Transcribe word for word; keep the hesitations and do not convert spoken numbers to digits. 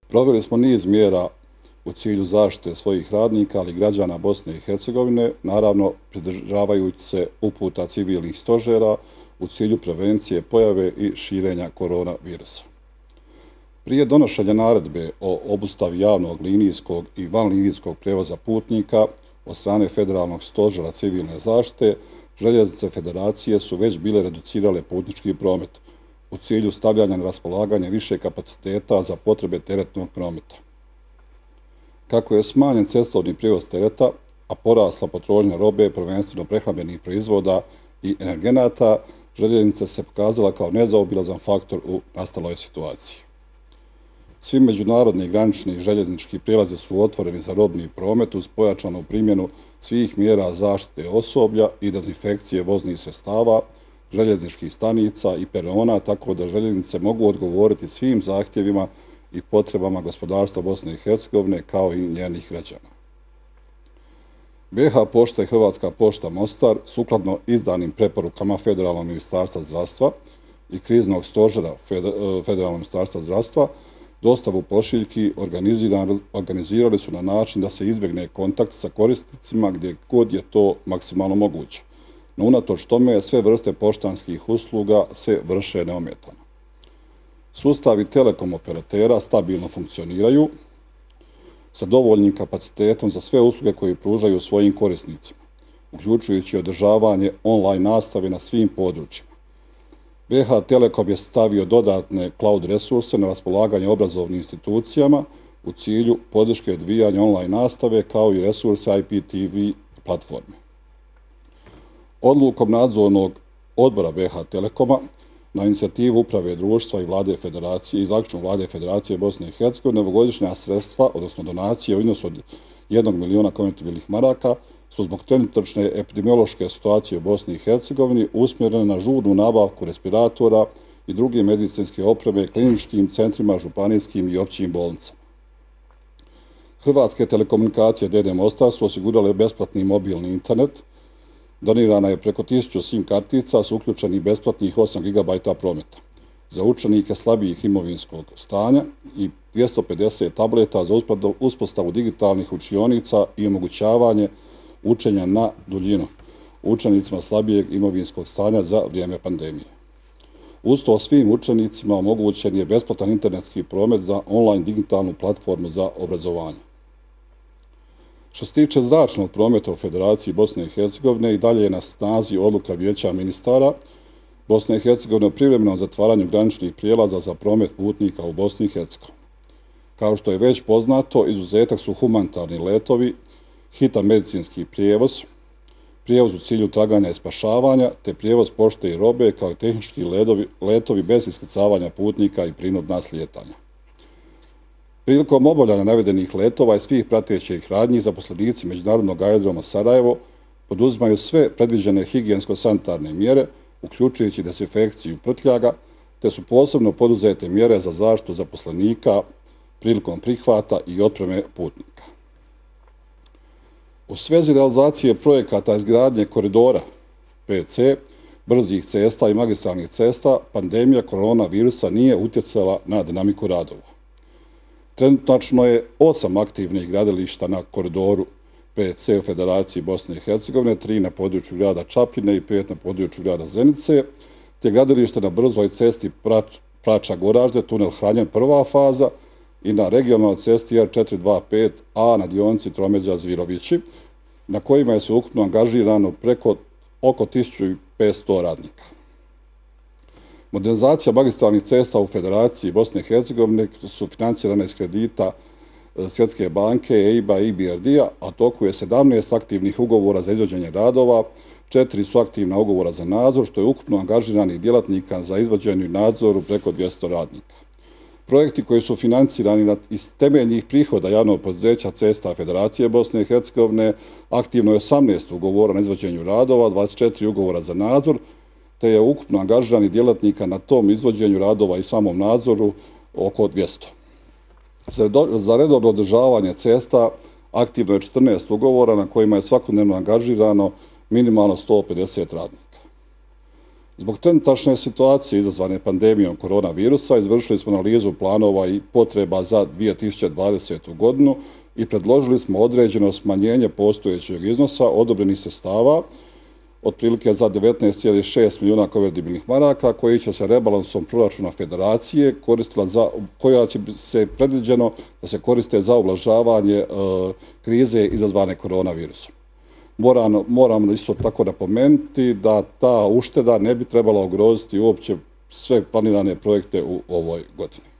Proveli smo niz mjera u cilju zaštite svojih radnika, ali i građana Bosne i Hercegovine, naravno pridržavajući se uputa civilnih stožera u cilju prevencije pojave i širenja koronavirusa. Prije donošenja naredbe o obustavi javnog linijskog i vanlinijskog prevoza putnika od strane Federalnog stožera civilne zaštite, Željeznice Federacije su već bile reducirale putnički promet u cilju stavljanja na raspolaganje više kapaciteta za potrebe teretnog prometa. Kako je smanjen cestovni prijevoz tereta, a porasla potrošnja robe, prvenstveno prehrambenih proizvoda i energenata, željeznica se pokazala kao nezaobilazan faktor u nastaloj situaciji. Svi međunarodni granični željeznički prijelazi su otvoreni za robni promet uz pojačanu primjenu svih mjera zaštite osoblja i dezinfekcije voznih sredstava, željezničkih stanica i perona, tako da željeznice mogu odgovoriti svim zahtjevima i potrebama gospodarstva Bosne i Hercegovine kao i njenih građana. be ha pošta i Hrvatska pošta Mostar, sukladno izdanim preporukama Federalnog ministarstva zdravstva i kriznog stožera Federalnog ministarstva zdravstva, dostavu pošiljki organizirali su na način da se izbjegne kontakt sa korisnicima gdje god je to maksimalno moguće. No unatoč tome sve vrste poštanskih usluga se vrše neometano. Sustavi telekom operatera stabilno funkcioniraju sa dovoljnim kapacitetom za sve usluge koje pružaju svojim korisnicima, uključujući održavanje online nastave na svim područjima. be ha Telekom je stavio dodatne cloud resurse na raspolaganje obrazovnim institucijama u cilju podrške odvijanja online nastave kao i resurse i pe te ve platforme. Odlukom nadzornog odbora be ha Telekoma na inicijativu Uprave društva i Vlade Federacije i zaključnom Vlade Federacije Bosne i Hercegovine novogodišnja sredstva, odnosno donacije u iznosu od jednog miliona konvertibilnih maraka, su zbog trenutačne epidemiološke situacije u Bosni i Hercegovini usmjerene na žurnu nabavku respiratora i druge medicinske opreme kliničkim centrima, županijskim i općim bolnicama. Hrvatske telekomunikacije de de Mostar su osigurale besplatni mobilni internet, donirana je preko tisuću sim kartica s uključenih besplatnih osam gigabajta prometa za učenike slabijih imovinskog stanja i dvjesto pedeset tableta za uspostavu digitalnih učionica i omogućavanje učenja na duljinu učenicima slabijeg imovinskog stanja za vrijeme pandemije. Uz to svim učenicima omogućen je besplatan internetski promet za online digitalnu platformu za obrazovanje. Što se tiče zračnog prometa u Federaciji Bosne i Hercegovine, i dalje je na snazi odluka Vijeća ministara Bosne i Hercegovine o privremenom zatvaranju graničnih prijelaza za promet putnika u Bosni i Hercegovini. Kao što je već poznato, izuzetak su humanitarni letovi, hitan medicinski prijevoz, prijevoz u cilju traganja i spašavanja, te prijevoz pošte i robe, kao i tehnički letovi bez iskrcavanja putnika i prinudna slijetanja. Prilikom obavljanja navedenih letova i svih pratećih radnji, zaposlenici Međunarodnog aerodroma Sarajevo poduzimaju sve predviđene higijensko-sanitarne mjere, uključujući dezinfekciju prtljaga, te su posebno poduzete mjere za zaštitu zaposlenika prilikom prihvata i otpreme putnika. U svezi realizacije projekata izgradnje koridora pe ce, brzih cesta i magistralnih cesta, pandemija koronavirusa nije utjecala na dinamiku radova. Trenutačno je osam aktivnih gradilišta na koridoru pe ce u Federaciji Bosne i Hercegovine, tri na području grada Čapljine i pet na području grada Zenice, te gradilište na brzoj cesti Prača-Goražde, tunel Hranjen prva faza i na regionalnoj cesti er četiristo dvadeset pet a na dionici Tromeđa-Zvirovići, na kojima je sveukupno angažirano preko oko tisuću petsto radnika. Modernizacija magistralnih cesta u Federaciji Bosne i Hercegovine su financirane iz kredita Svjetske banke, e i be a i be er de-a, a toku je sedamnaest aktivnih ugovora za izvođenje radova, četiri su aktivna ugovora za nadzor, što je ukupno angažiranih djelatnika za izvođenje i nadzoru preko dvjesto radnika. Projekti koji su financirani iz temeljnih prihoda javnog poduzeća Cesta Federacije Bosne i Hercegovine, aktivno je osamnaest ugovora na izvođenju radova, dvadeset četiri ugovora za nadzor, te je ukupno angažiranih djelatnika na tom izvođenju radova i samom nadzoru oko dvjesto. Za redovno održavanje cesta aktivno je četrnaest ugovora na kojima je svakodnevno angažirano minimalno sto pedeset radnika. Zbog trenutačne situacije izazvane pandemijom koronavirusa izvršili smo analizu planova i potreba za dvije tisuće dvadesetu. godinu i predložili smo određeno smanjenje postojećeg iznosa odobrenih sredstava otprilike za devetnaest zarez šest milijuna konvertibilnih maraka koji će se rebalansom proračuna federacije koristila za, koja će se predviđeno da se koriste za ublažavanje e, krize izazvane koronavirusom. Moramo, moramo isto tako napomenuti da ta ušteda ne bi trebala ugroziti uopće sve planirane projekte u ovoj godini.